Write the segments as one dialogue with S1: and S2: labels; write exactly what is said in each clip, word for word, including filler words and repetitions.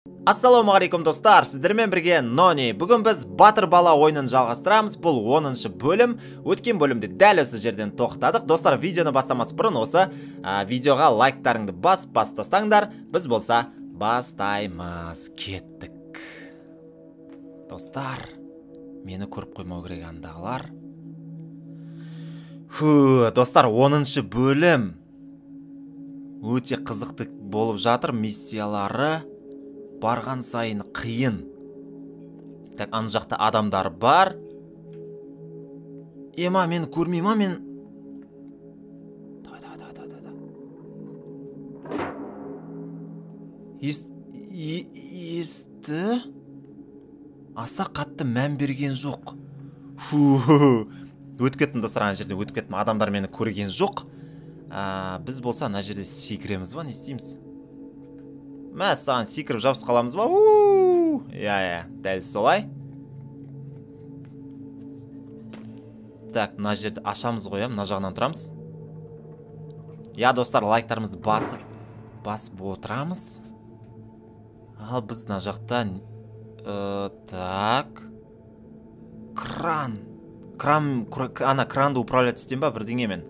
S1: Ассалаумағалейкум достар, сіздермен бірге Нони. Бүгін біз Батыр бала ойынын жалғастырамыз. Бұл оныншы бөлім. Өткен бөлімде дәл осы жерден тоқтадық. Достар, видеоны бастамас бұрын осы ә, видеоға лайктарыңды бас бас тастаңдар. Біз болса бастаймыз. Кеттік. Достар, мені көріп қоймау керек андағылар. Ху, достар, оныншы бөлім. Өте қызықты болып жатыр. Миссиялары барған сайын қиын. Так, ана жақта адамдар бар. Ема, мен көрмейм, ма мен. Давай, давай, давай, давай, давай. Ес, есті. Аса қатты мән берген жоқ. Фу, өтіп кеттім достар, ана жерде өтіп кеттім. Адамдар мені көрген жоқ. А, біз болса ана жерде секіреміз ба, не істейміз? Мә, саған секіріп жабыс қаламыз ба? Уу! Я, я, дәл солай. Так, мына жерді ашамыз ғой, мына жағынан тұрамыз. Я, достар, лайктарымызды басып, басып отырамыз. Ал біз мына жақтан, ә, так. Кран. Кран, ана кранды управлять етем ба бірдеңемен.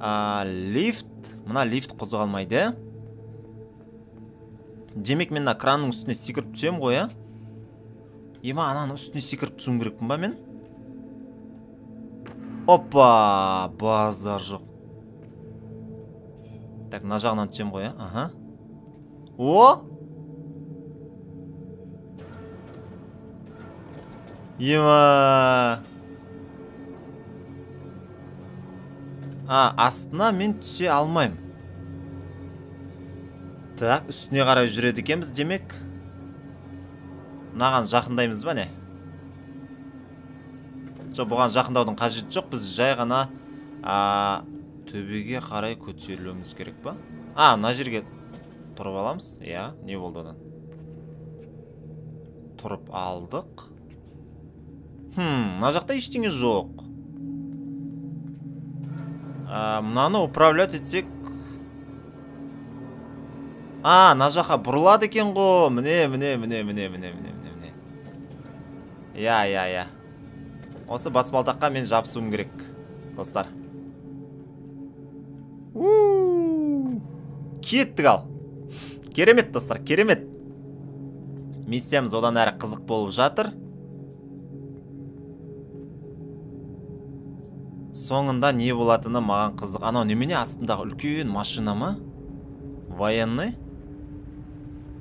S1: А, лифт. Мына лифт қозғалмайды. Демек мен кранның үстіне секіріп түсем ғой, а? Ема, ананың үстіне секіріп түсуім керекпін ба мен? Опа, базар жоқ. Так, мына жағынан түсем ғой, а? Аха. О! Ема! А, астына мен түсе алмайым. Так, үстіне қарай жүреді екенбіз, демек. Мынаған жақындаймыз ба не? Жоқ, бұған жақындаудың қажеті жоқ. Біз жай ғана а, төбеге қарай көтерілуіміз керек па? А, мына жерге тұрып аламыз. Я, не болды одан? Тұрып алдық. Хм, мына жақта ештеңе жоқ. А, мынаны управлять етсек. А, мына жаққа бұрылады екен ғой. Міне, міне, міне, міне, міне, міне, міне. Я, я, я. Осы баспалдаққа мен жабысуым керек, достар. Уу! Кеттік ал. Керемет, достар, керемет. Миссиямыз одан әрі қызық болып жатыр. Соңында не болатыны маған қызық. Анау немене астымдағы үлкен машина ма? Военный?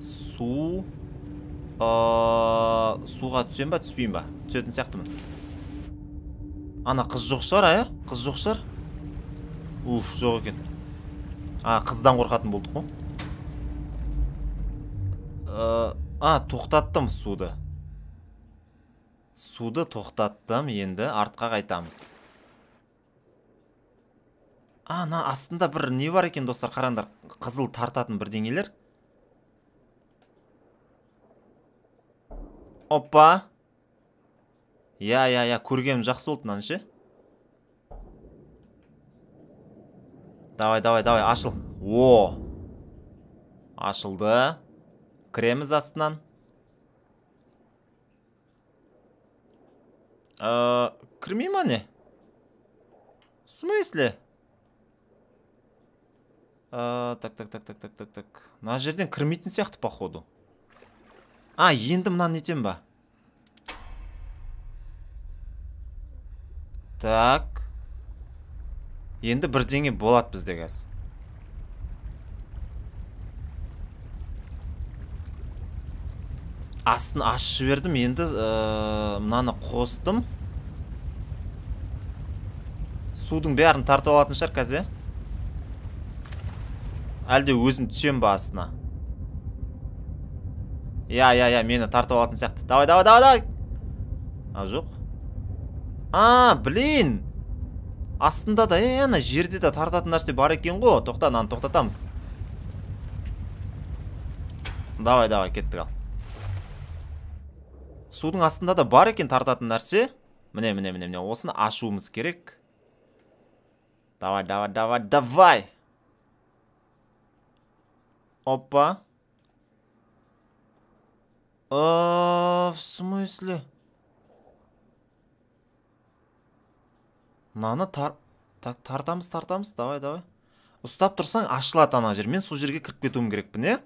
S1: Су... Суға түсем ба, түспейм ба? Түсетін сияқтымын. Ана қыз жоқ шығар, ая? Қыз жоқ шығар? Уф, жоқ екен. А, қыздан қорқатын болдық қой. А, тоқтаттым суды. Суды тоқтаттым, енді артқа қайтамыз. А, ана астында бір не бар екен, достар, қараңдар. Қызыл тартатын бірдеңелер. Опа. Я, я, я, көргенім жақсы болды мынаны ше. Давай, давай, давай, ашыл. О! Ашылды. Кіреміз астынан. Кірмей ма не? В смысле? Так, так, так, так, так, так, так. Мына жерден кірмейтін сияқты, походу. А, енді мынаны нетем ба? Так. Енді бірдеңе болады бізде қазір. Астын ашып жібердім, енді мынаны қостым. Судың бәрін тартып алатын шығар қазір. Әлде өзім түсем ба астына? Я, я, я, мені тартып алатын сияқты. Давай, давай, давай, давай. А, жоқ. А, блин. Астында да, е, ана жерде де тартатын нәрсе бар екен ғой. Тоқта, наны тоқтатамыз. Давай, давай, кеттік ал. Судың астында да бар екен тартатын нәрсе. Міне, міне, міне, міне. Осыны ашуымыз керек. Давай, давай, давай, давай. Опа. В смысле? Мынаны тар... Так, тартамыз, тартамыз. Давай, давай. Ұстап тұрсаң, ашылады ана жер. Мен сол жерге кіріп кетуім керекпін, е?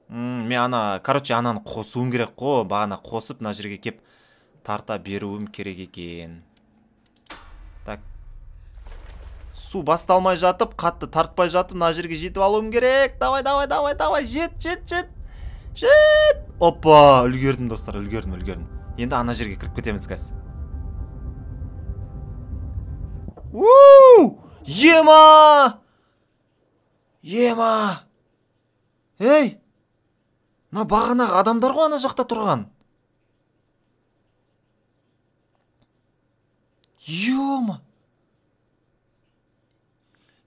S1: Мен ана, короче, ананы қосуым керек қо. Бағана қосып, мына жерге кеп тарта беруім керек екен. Так. Су басталмай жатып, қатты тартпай жатып, мына жерге жетіп алуым керек. Давай, давай, давай, давай. Жет, жет, жет. Жет. Опа, үлгердім, достар, үлгердім, үлгердім. Енді ана жерге кіріп кетеміз, қазір. Уу! Ема! Ема! Ей! Мына бағанағы адамдар ғой ана жақта тұрған. Ема!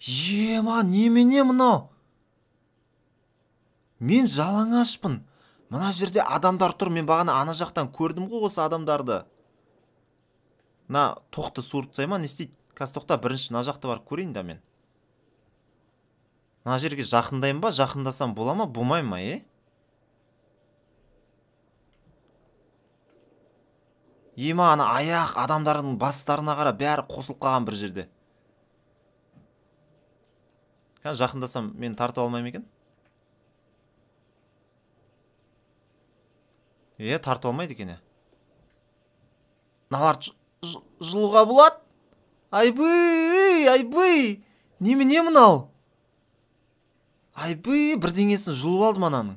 S1: Ема, немене мынау? Мен жалаңашпын. Мына жерде адамдар тұр. Мен бағана ана жақтан көрдім ғой осы адамдарды. На, тоқты суырып тастайма, не істейді? Қазір тоқта, бірінші мына жақты барып көрейін да мен. Мына жерге жақындайым ба? Жақындасам бола ма? Болмай ма, е? Ема, ана аяқ адамдардың бастарына қара бәрі қосылып қалған бір жерде. Қазір жақындасам мен тартып алмаймын екен? Е, тартып алмайды екен, е. Налар жылуға болады? Айбый, айбый, немене мынау? Айбый, бірдеңесін жұлып алды мананың.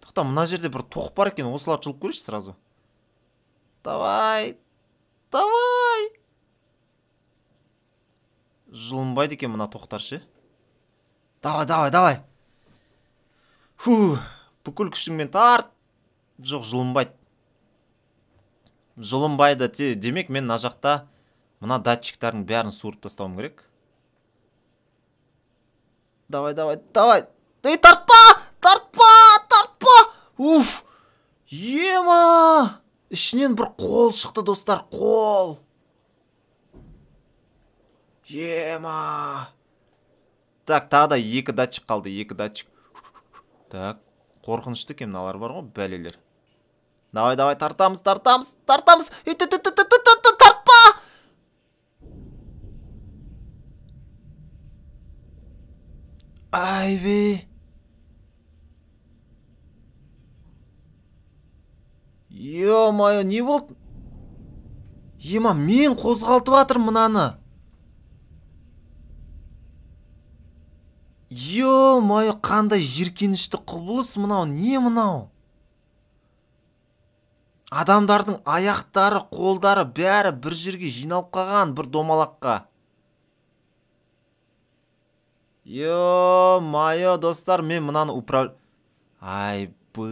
S1: Тоқта, мына жерде бір тоқ бар екен, осылар жұлып көрейші сразу. Давай, давай. Жылынбайды екен мына тоқтаршы. Давай, давай, давай. Фу, бүкіл күшіңмен тарт. Жоқ, жылынбайды. Жылынбайды, демек мен мына жақта мына датчиктардың бәрін суырып тастауым керек. Давай, давай, давай. Ей, тартпа! Тартпа! Тартпа! Уф! Ема! Ішінен бір қол шықты, достар, қол. Ема! Так, тағы да екі датчик қалды, екі датчик. Так, қорқынышты екен мыналар бар ғой, бәлелер. Давай, давай, тартамыз, тартамыз, тартамыз. Тартпа! Айбе. Ё-майо, не болды? Ема, мен қозғалтып атырмын мынаны. Ё-майо, қандай жиркенішті құбылыс мынау, не мынау? Адамдардың аяқтары, қолдары бәрі бір жерге жиналып қалған, бір домалаққа. Ё-майо, достар, мен мынаны управ... Айбы.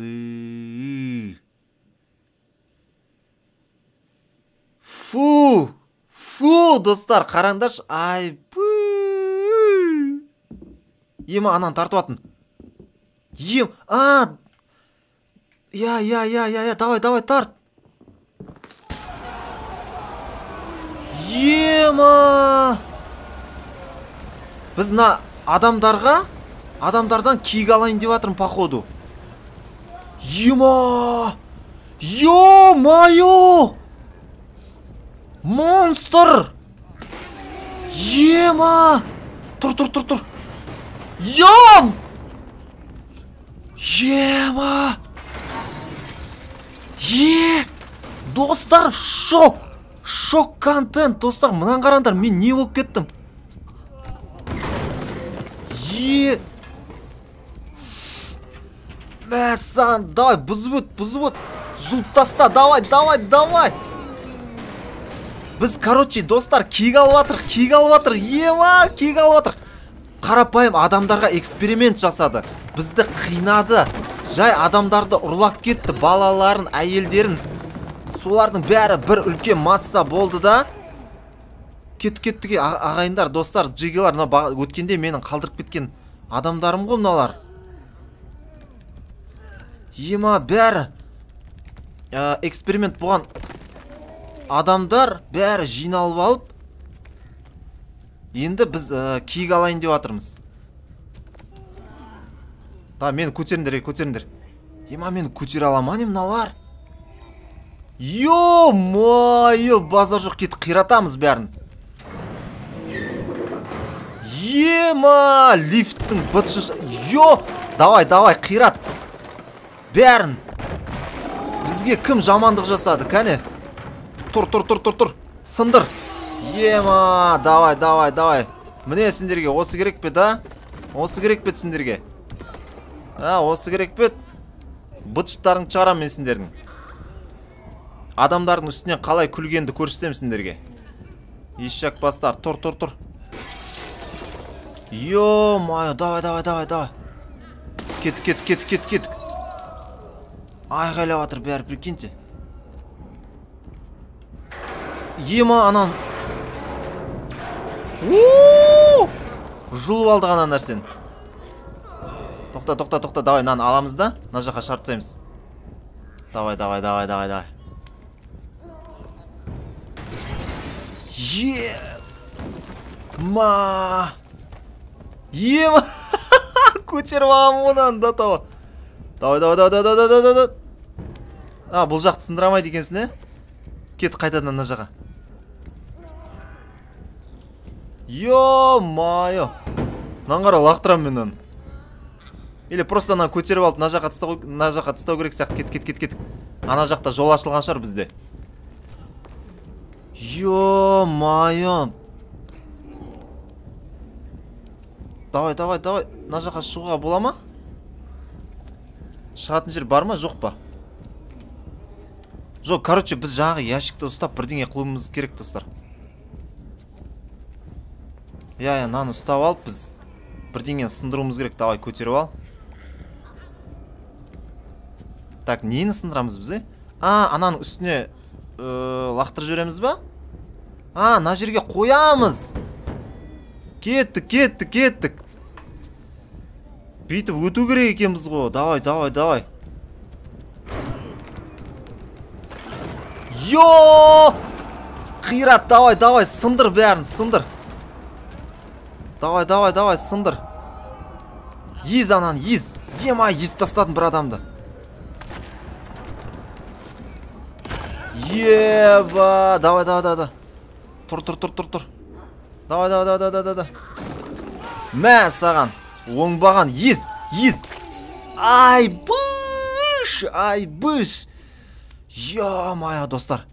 S1: Фу! Фу, достар, қараңдаршы. Айбы. Ема, ананы тартып атын. Ем, а... Я, я, я, я, я, давай, давай, тарт. Ема! Біз на адамдарға, адамдардан киік алайын деп атырмын, походу. Ема! Ё-майо! Монстр! Ема! Тұр, тұр, тұр, тұр. Ем! Ема! Е, достар, шок, шок контент, достар, мұнан қараңдар, мен не болып кеттім? Е, мәсан, давай, бұзып өт, бұзып өт, жұлып таста, давай, давай, давай. Біз, короче, достар, киік алып атыр, киік алып атыр, ема, киік алып атыр. Қарапайым адамдарға эксперимент жасады, бізді қинады. Жай адамдарды ұрлап кетті, балаларын, әйелдерін. Солардың бәрі бір үлкен масса болды да. Кет-кеттіге ағайындар, достар, джигелар, өткенде менің қалдырып кеткен адамдарым ғой мыналар. Ема, бәрі эксперимент болған адамдар бәрі жиналып алып. Енді біз киік алайын деп атырмыз. Да, мені көтеріңдер, көтеріңдер. Ема, мені көтере ала ма не мыналар? Ё-моё, базар жоқ, кет қиратамыз бәрін. Ема, лифттің бытшыш. Ё, давай, давай, қират. Бәрін. Бізге кім жамандық жасады, кәне? Тұр, тұр, тұр, тұр, тұр. Сындыр. Ема, давай, давай, давай. Міне сендерге осы керек пе, да? Осы керек пе сендерге? А, осы керек пе? Бытшыттарың шығарам мен сендердің. Адамдардың үстінен қалай күлгенді көрсетем сендерге. Ешек бастар, тұр, тұр, тұр. Ё-моё, давай, давай, давай, давай. Кет, кет, кет, кет, кет. Айғайлап атыр бәрі, прикиньте. Ема, анан. Ооо! Жұлып алды ғана нәрсен. Тоқта, тоқта, тоқта, давай, нан аламыз да, на жаққа шартсаймыз. Давай, давай, давай, давай, давай. Е! Ма! Ема! Көтеріп алам одан, да, тава. Давай, давай, давай, давай, давай, давай, давай. А, бұл жақты сындырамайды екенсін, е? Кет қайтадан на жаққа. Ё-майо! Нан қара лақтырам мен нан. Или просто ана көтеріп алып, на жаққа тыстау, на жаққа тыстау керек сияқты. Кет, кет, кет, кет. Ана жақта жол ашылған шығар бізде. Ё-майо! Давай, давай, давай. На жаққа шығуға бола ма? Шығатын жер бар ма, жоқ па? Жоқ, короче, біз жаңағы ящикті ұстап бірдеңе қылуымыз керек, достар. Я, я, наны ұстап алып, біз бірдеңені сындыруымыз керек. Давай, көтеріп ал. Так, нені сындырамыз біз, е? А, ананың үстіне лақтырып жібереміз ба? А, на жерге қоямыз. Кеттік, кеттік, кеттік. Бүйтіп өту керек екенбіз ғой. Давай, давай, давай. Йо! Қират, давай, давай, сындыр бәрін, сындыр. Давай, давай, давай, сындыр. Ез анан, ез. Ема, езіп тастадым бір адамды. Еба, давай, давай, давай, давай. Тұр, тұр, тұр, тұр, тұр. Давай, давай, давай, давай, давай. Мә, саған. Оңбаған, ез, ез. Ай, бұш, ай, бұш. Ё-моё, достар.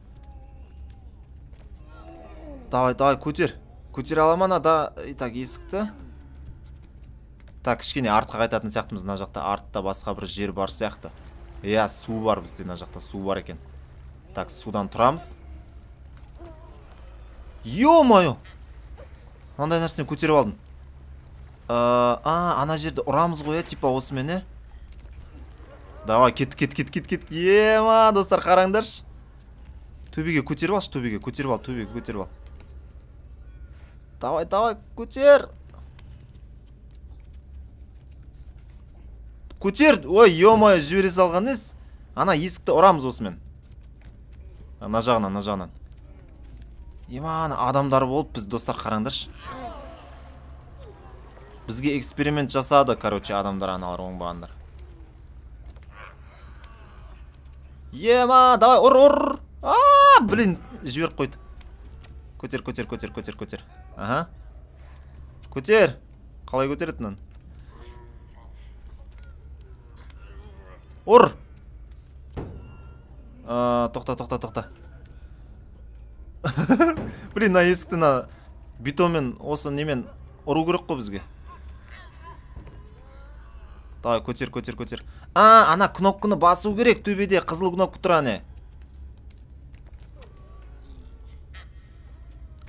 S1: Давай, давай, көтер. Көтер аламана да, итак, есікті. Так, кішкене артқа қайтатын сияқтымыз. На жақта артта басқа бір жер бар сияқты. Иә, су бар бізде, на жақта су бар екен. Так, судан тұрамыз. Ё-моё! Мынандай нәрсені көтеріп алдым. А, ана жерді ұрамыз ғой, типа осымен, е? Давай, кет, кет, кет, кет, кет. Ема, достар, қараңдаршы. Төбеге көтеріп алшы, төбеге, көтеріп ал, төбеге көтеріп ал. Давай, давай, көтер. Көтер. Ой, ё-моё, жібере салған ес. Ана есікті ұрамыз осымен. На жағынан, на жағынан. Ема, адамдар болып біз, достар, қараңдаршы. Бізге эксперимент жасады, короче, адамдар аналар оңбағандар. Ема, давай, ұр, ұр. Ааа, блин, жіберіп қойды. Көтер, көтер, көтер, көтер, көтер. Аха. Көтер. Қалай көтеретінін? Ұр. Тоқта, тоқта, тоқта. Блин, на есікті на бетонмен осы немен ұру керек қой бізге. Давай, көтер, көтер, көтер. А, ана кнопканы басу керек, төбеде қызыл кнопка тұр, ане.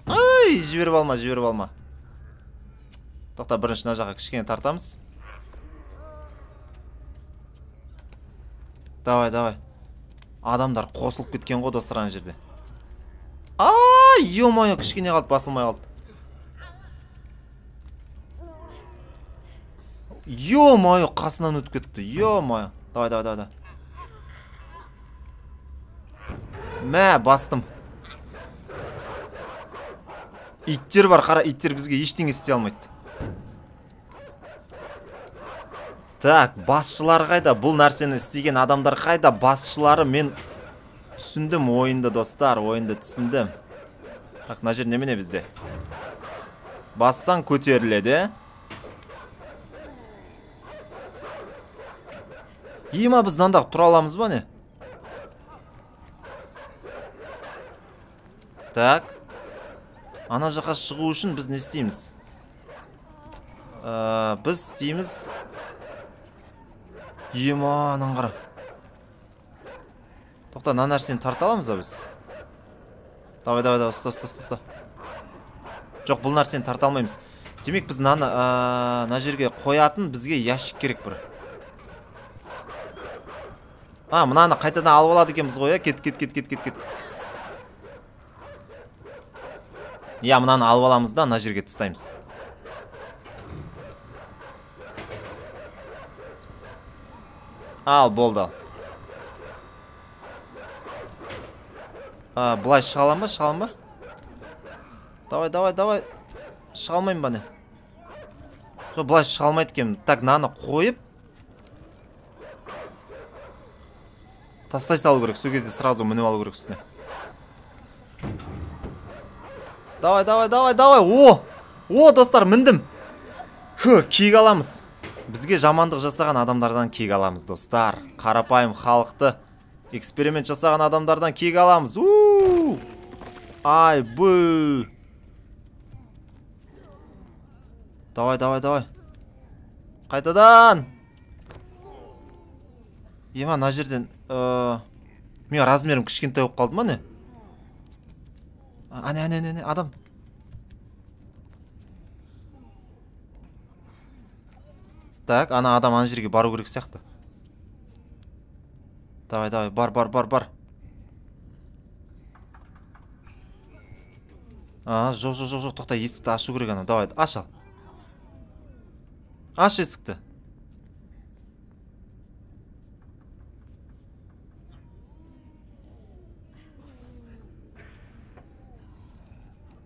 S1: Ай, жіберіп алма, жіберіп алма. Тоқта, бірінші на жаққа кішкене тартамыз. Давай, давай. Адамдар қосылып кеткен ғой, достар, ана жерде. Ай, ё-моё, кішкене қалды, басылмай қалды. Ё-моё, қасынан өтіп кетті. Ё-моё. Давай, давай, давай. Мә, бастым. Иттер бар, қара, иттер бізге ештеңе істей алмайды. Так, басшылар қайда? Бұл нәрсені істеген адамдар қайда? Басшылары мен түсіндім ойынды, достар, ойынды түсіндім. Так, мына жер немене бізде? Бассаң көтеріледі. Ема біз мынандай тұра аламыз ба не? Так. Ана жаққа шығу үшін біз не істейміз? Ә, біз істейміз. Ема, анан қара. Тоқта, мына нәрсені тарта аламыз ба біз? Давай, давай, давай, ұста, ұста, ұста. Жоқ, бұл нәрсені тарта алмаймыз. Демек біз мына жерге қоятын бізге ящик керек бір. А, мынаны қайтадан алып алады екенбіз ғой, кет, кет, кет, кет, кет, кет. Я, мынаны алып аламыз да, мына жерге тастаймыз. Ал, болды. А, бұлай шыға алам ба, шыға алам ба? Давай, давай, давай. Шыға алмайым ба не? Жоқ, бұлай шыға алмайды екенмін. Так, мынаны қойып тастай салу керек. Сол кезде сразу мініп алу керек үстіне. Давай, давай, давай, давай. О! О, достар, міндім. Фу, киік аламыз. Бізге жамандық жасаған адамдардан киік аламыз, достар. Қарапайым халықты эксперимент жасаған адамдардан киік аламыз. У! Ай, бу! Давай, давай, давай. Қайтадан. Ема, мына жерден мен размерім кішкентай болып қалды ма не? Ане, ане, ане, адам. Так, ана адам ана жерге бару керек сияқты. Давай, давай, бар, бар, бар, бар. А, жоқ, жоқ, жоқ, жоқ, тоқта, есікті ашу керек ана. Давай, аш ал. Аш есікті.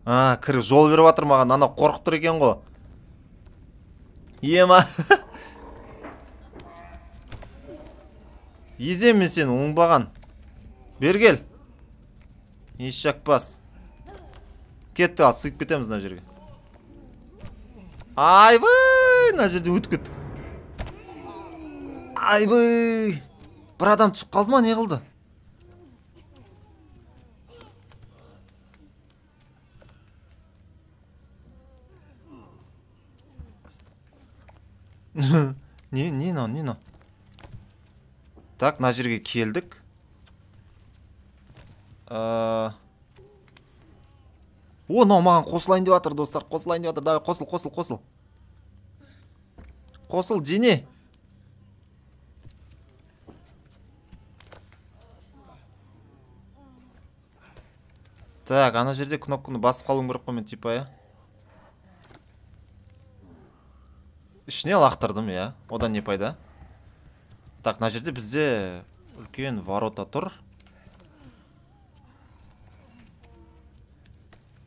S1: А, кір, жол беріп атыр маған, ана қорқып тұр екен ғой. Ема. Езем мен сені, оңбаған. Бергел. Еш жақпас. Кетті ал, сыйып кетеміз мына жерге. Айбай, мына жерде өтіп кеттік. Айбай. Бір адам түсіп қалды ма, не қылды? Не, не мынау, не мынау? Так, мына жерге келдік. О, мынау маған қосылайын деп жатыр, достар, қосылайын деп жатыр. Давай, қосыл, қосыл, қосыл. Қосыл, дене. Так, ана жерде кнопканы басып қалуым керек қой мен, типа, я. Ішіне лақтырдым, я. Одан не пайда? Так, мына жерде бізде үлкен ворота тұр.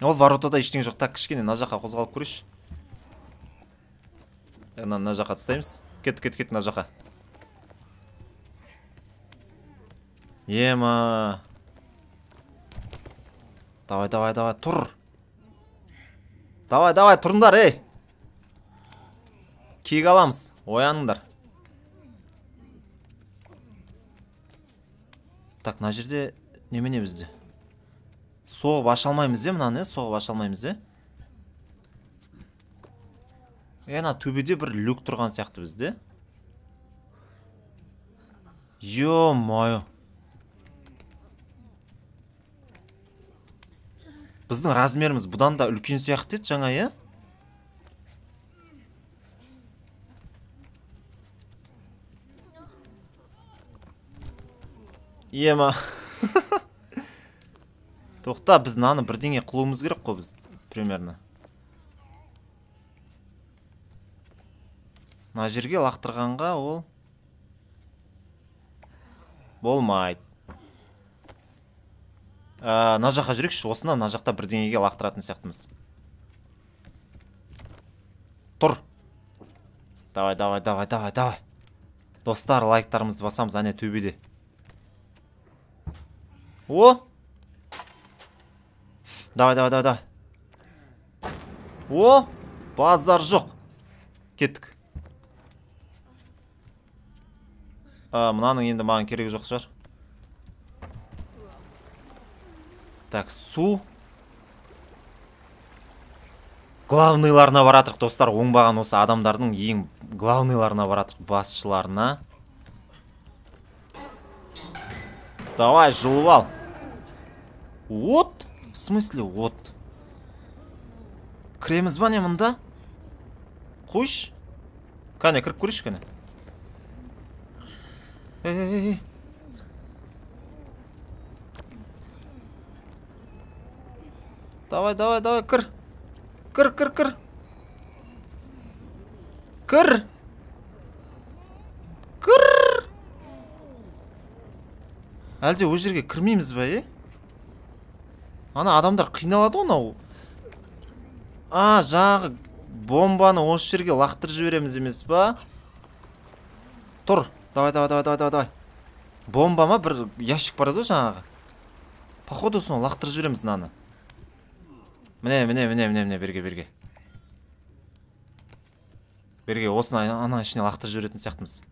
S1: Ол воротада ештеңе жоқ. Так, кішкене мына жаққа қозғалып көрейінші. Мына жаққа тастаймыз. Кет, кет, кет, мына жаққа. Ема. Давай, давай, давай, тұр. Давай, давай, тұрыңдар, ей. Киік аламыз, ояныңдар. Так, мына жерде немене бізде? Соғып аша алмаймыз, е, мынаны, соғып аша алмаймыз, е? Ена, төбеде бір люк тұрған сияқты бізде. Ё-мойо. Біздің размеріміз бұдан да үлкен сияқты еді жаңа, е? Ема. Тоқта, біз наны бірдеңе қылуымыз керек қой біз, примерно. Мына жерге лақтырғанға ол болмайды. Мына жаққа жүрекші, осына мына жақта бірдеңеге лақтыратын сияқтымыз. Тұр. Давай, давай, давай, давай, давай. Достар, лайктарымызды басамыз, әне төбеде. О! Давай, давай, давай, давай. О! Базар жоқ. Кеттік. Мұнаның енді маған керегі жоқ шығар. Так, су. Главныйларына баратырық, достар. Оңбаған осы адамдардың ең главныйларына баратырық, басшыларына. Давай, жылып ал. От? В смысле от? Кіреміз ба не мұнда? Қойш? Кәне, кіріп көреш, кәне. Эй-эй-эй. Давай, давай, давай, кір. Кір, кір, кір. Кір. Кір. Әлде о жерге кірмейміз ба, е? Ана адамдар қиналады онау. А, жағы бомбаны осы жерге лақтыр жібереміз емес ба? Тұр. Давай, давай, давай, давай, давай. Бомба ма? Бір ящик бар еді жаңағы. Походу соны лақтыр жібереміз наны. Міне, міне, міне, міне, міне, берге, берге. Берге, осыны ана ішіне лақтыр жіберетін сияқтымыз.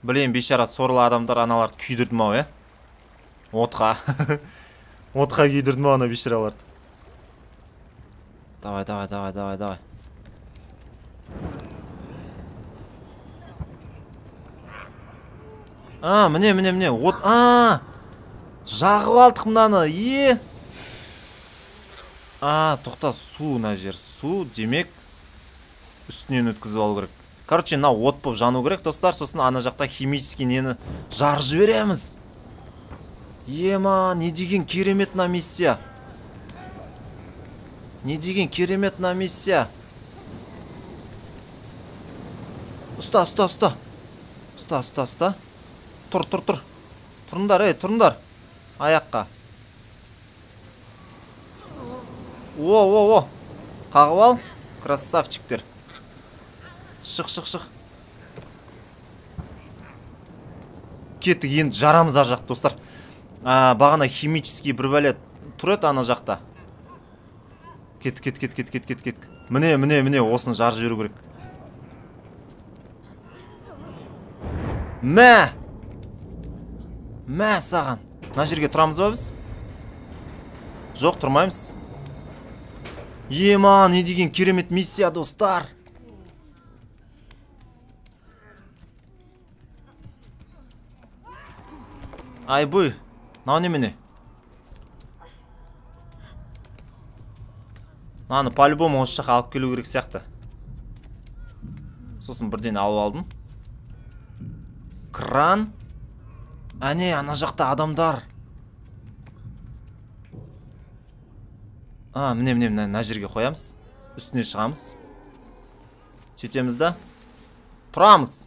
S1: Білейін, бейшара сорлы адамдар аналарды күйдірдім ау, е? Отқа. Отқа күйдірдім ау ана бейшараларды. Давай, давай, давай, давай, давай. А, міне, міне, міне, от, а, жағып алдық мынаны, е. А, тоқта, су мына жер, су, демек, үстінен өткізіп алу керек. Короче, мына от болып жану керек, достар, сосын ана жақта химический нені жарып жібереміз. Ема, не деген керемет на миссия. Не деген керемет на миссия. Ұста, ұста, ұста. Ұста, ұста, ұста. Тұр, тұр, тұр. Тұрыңдар, ей, тұрыңдар. Аяққа. О, о, о. Қағып ал. Красавчиктер. Шық, шық, шық. Кеттік, енді жарамыз ар жақ, достар. Бағана химический бір бәле тұр еді ана жақта. Кет, кет, кет, кет, кет, кет, кет. Міне, міне, міне, осыны жарып жіберу керек. Мә! Мә саған. Мына жерге тұрамыз ба біз? Жоқ, тұрмаймыз. Ема, не деген керемет миссия, достар. Ай, бұй. Нау немене? Наны по-любому осы жаққа алып келу керек сияқты. Сосын бірден алып алдым. Кран. Әне, ана жақта адамдар. А, міне, міне, мына жерге қоямыз. Үстіне шығамыз. Сөйтеміз да. Тұрамыз.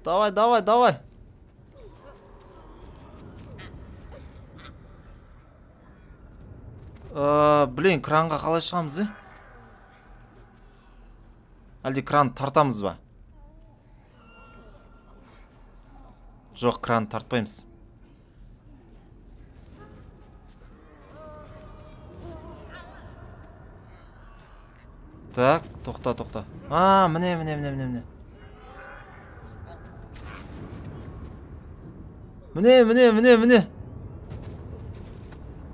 S1: Давай, давай, давай. Блин, кранға қалай шығамыз, е? Әлде кран тартамыз ба? Жоқ, кран тартпаймыз. Так, тоқта, тоқта. А, міне, міне, міне, міне, міне. Міне, міне, міне, міне.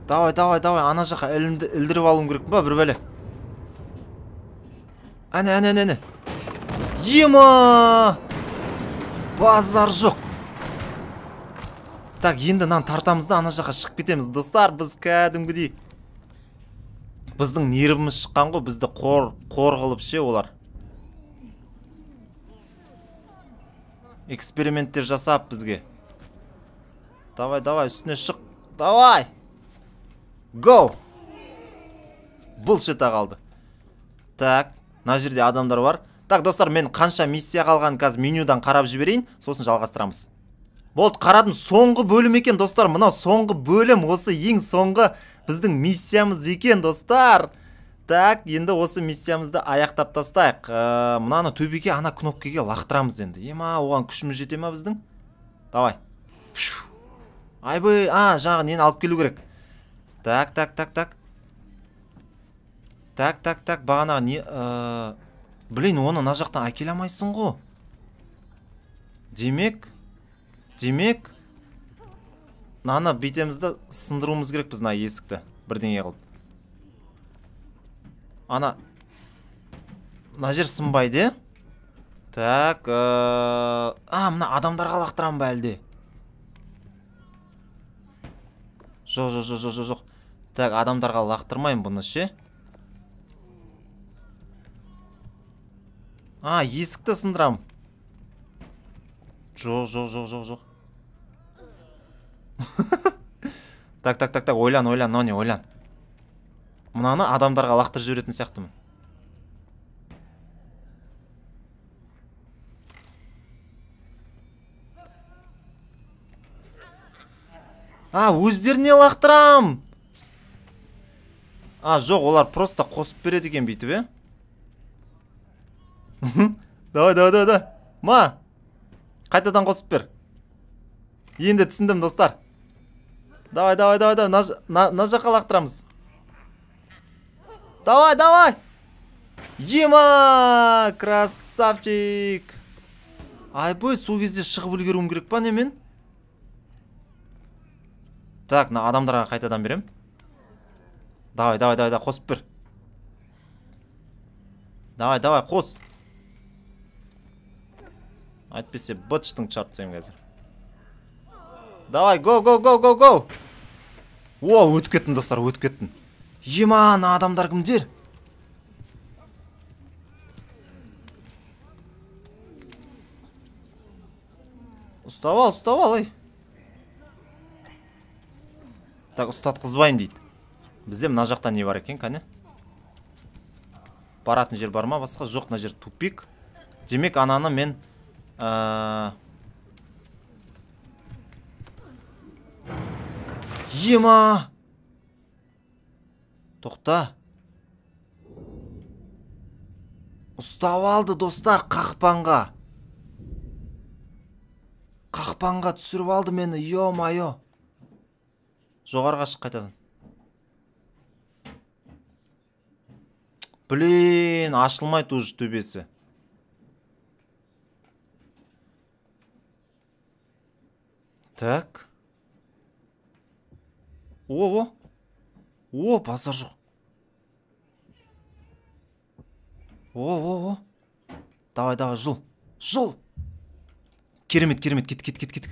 S1: Давай, давай, давай, ана жаққа ілдіріп алуым керек ба, бір бәле. Әне, әне, әне, әне. Ема! Базар жоқ. Так, енді нан тартамызда ана жаққа шығып кетеміз. Достар, біз кәдімгідей. Біздің нервіміз шыққан ғой, бізді қор, қор қылып ше олар. Эксперименттер жасап бізге. Давай, давай, үстіне шық. Давай! Go! Бұл шета қалды. Так, мына жерде адамдар бар. Так, достар, мен қанша миссия қалған қазір менюдан қарап жіберейін, сосын жалғастырамыз. Болды, қарадым, соңғы бөлім екен, достар. Мына соңғы бөлім, осы ең соңғы біздің миссиямыз екен, достар. Так, енді осы миссиямызды аяқтап тастайық. Ә, мынаны төбеге ана кнопкаға лақтырамыз енді. Ема, оған күшіміз жете ма біздің? Давай. Айбай, а, жағы нені алып келу керек. Так, так, так, так. Так, так, так, бағана не... Ә... Блин, оны на жақтан әкеле алмайсың ғой. Демек, демек, наны бетемізді сындыруымыз керек біз на есікті. Бірдеңе қылып. Ана, мына жер сынбайды. Так, ә... а, мына адамдарға лақтырам ба әлде? Жоқ, жоқ, жоқ, жоқ, жоқ. Так, адамдарға лақтырмайым бұны ше. А, есікті сындырам. Жоқ, жоқ, жоқ, жоқ, жоқ. Так, так, так, так, ойлан, ойлан, нони, ойлан. Мынаны адамдарға лақтырып жіберетін сияқтымын. А, өздеріне лақтырам. А, жоқ, олар просто қосып береді екен бүйтіп, е? Давай, давай, давай, давай. Ма, қайтадан қосып бер. Енді түсіндім, достар. Давай, давай, давай, давай. На жаққа лақтырамыз. Давай, давай. Ема, красавчик. Айбой, сол кезде шығып үлгеруім керек па немен? Так, на адамдарға қайтадан берем. Давай, давай, давай, давай, қосып бер. Давай, давай, қос. Айтпесе, бытштың чартсайым қазір. Давай, го, го, го, го, го. О, өтіп кеттін, достар, өтіп кеттін. Ема, на адамдар кімдер? Ұстап ал, ұстап ал, ей. Так, ұстатқызбайым дейді. Бізде мына жақта не бар екен, кәне? Баратын жер бар ма? Басқа жоқ, мына жер тупик. Демек, ананы мен... Ема! Тоқта. Ұстап алды, достар, қақпанға. Қақпанға түсіріп алды мені, ё-майо. Жоғарға шық қайтадан. Блин, ашылмайды уже төбесі. Так. О, о. О, базар жоқ. О, о, о. Давай, давай, жыл. Жыл. Керемет, керемет, кет, кет, кет, кет.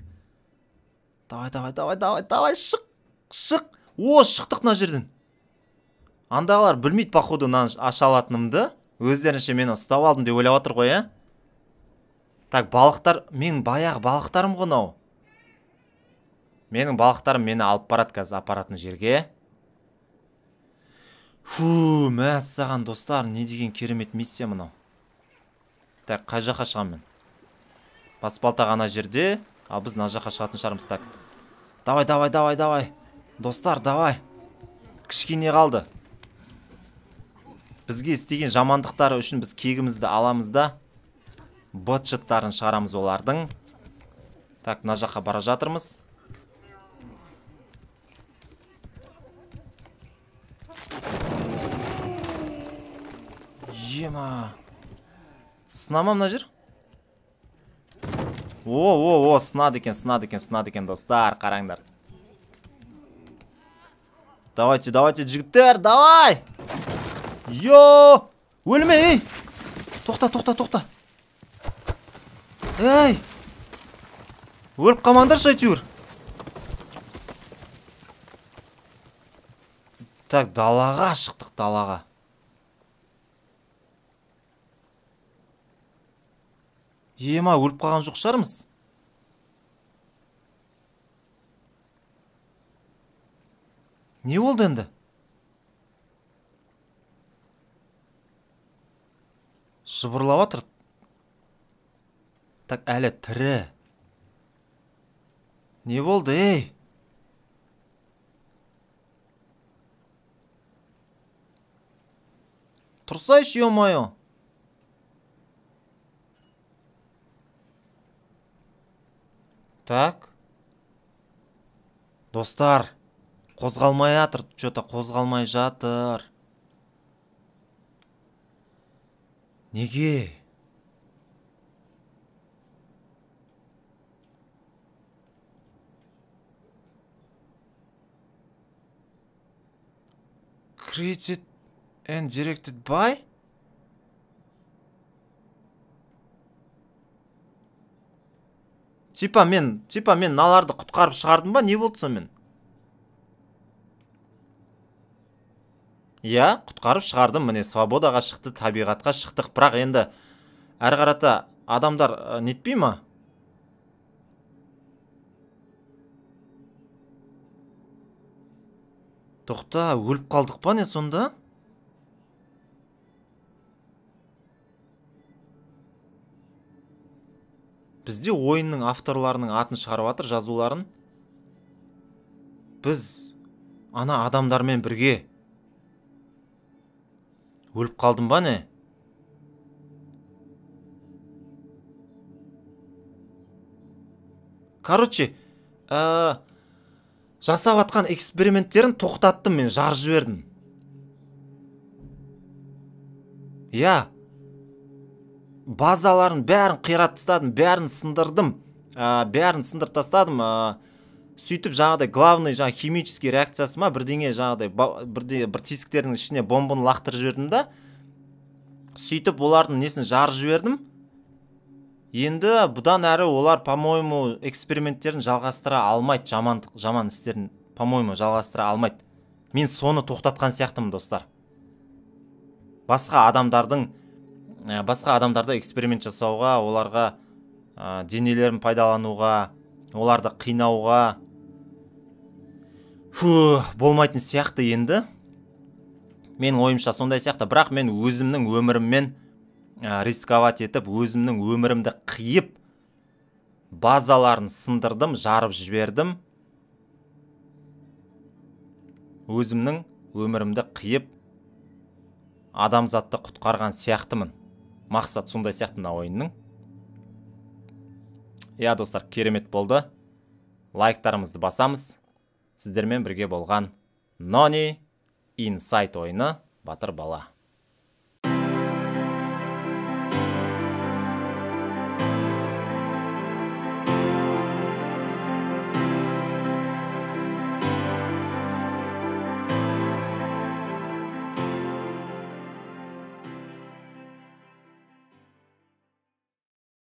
S1: Давай, давай, давай, давай, давай, шық. Шық. О, шықтық мына жерден. Андағылар білмейді, походу, нан аша алатынымды. Өздерінше мені ұстап алдым деп ойлап отыр ғой, ә? Так, балықтар, мен баяғы балықтарым ғой мынау. Менің балықтарым мені алып барады қазір апаратын жерге. Фу, мәссаған, достар, не деген керемет миссия мынау. Так, қай жаққа шығам мен? Баспалта ғана жерде, ал біз мына жаққа шығатын шығармыз. Так. Давай, давай, давай, давай. Достар, давай. Кішкене қалды. Бізге істеген жамандықтары үшін біз кегімізді аламыз да бытшыттарын шығарамыз олардың. Так, мына жаққа бара жатырмыз. Ема. Сынама мына жер? О, о, о, сынады екен, сынады екен, сынады екен, достар, қараңдар. Давайте, давайте, жігіттер, давай! Йо! Өлме, ей! Тоқта, тоқта, тоқта. Ей! Өліп қалмаңдаршы әйтеуір. Так, далаға шықтық, далаға. Ема, өліп қалған жоқ шығармыз. Не болды енді? Жыбырлап жатыр. Так, әлі тірі. Не болды, ей? Тұрсайшы, ё-моё. Так. Достар, қозғалмай жатыр, что-то қозғалмай жатыр. Неге? Created and directed by? Типа мен, типа мен наларды құтқарып шығардым ба? Не болды сонымен? Иә, құтқарып шығардым. Міне свободаға шықты, табиғатқа шықтық. Бірақ енді әрі қарата адамдар нетпей ма? Тоқта, өліп қалдық па не сонда? Бізде ойынның авторларының атын шығарып жатыр, жазуларын. Біз ана адамдармен бірге өліп қалдым ба не? Короче, ә, жасап атқан эксперименттерін тоқтаттым, мен жарып жібердім. Иә. Базаларын бәрін қират тастадым, бәрін сындырдым. Ә, бәрін сындырып тастадым. Ә, сөйтіп жаңағыдай главный жаңа химический реакциясы ма, бірдеңе жаңағыдай бірде бір тесіктердің ішіне бомбаны лақтырып жібердім да. Сөйтіп олардың несін жарып жібердім. Енді бұдан әрі олар, по-моему, эксперименттерін жалғастыра алмайды, жаман, жаман істерін, по-моему, жалғастыра алмайды. Мен соны тоқтатқан сияқтымын, достар. Басқа адамдардың, басқа адамдарды эксперимент жасауға, оларға ә, денелерін пайдалануға, оларды қинауға фу, болмайтын сияқты енді. Мен ойымша сондай сияқты, бірақ мен өзімнің өміріммен рисковать етіп, өзімнің өмірімді қиып, базаларын сындырдым, жарып жібердім. Өзімнің өмірімді қиып, адамзатты құтқарған сияқтымын. Мақсат сондай сияқты мына ойынның. Иә, достар, керемет болды. Лайктарымызды басамыз. Сіздермен бірге болған Noni Inside ойыны Батыр бала.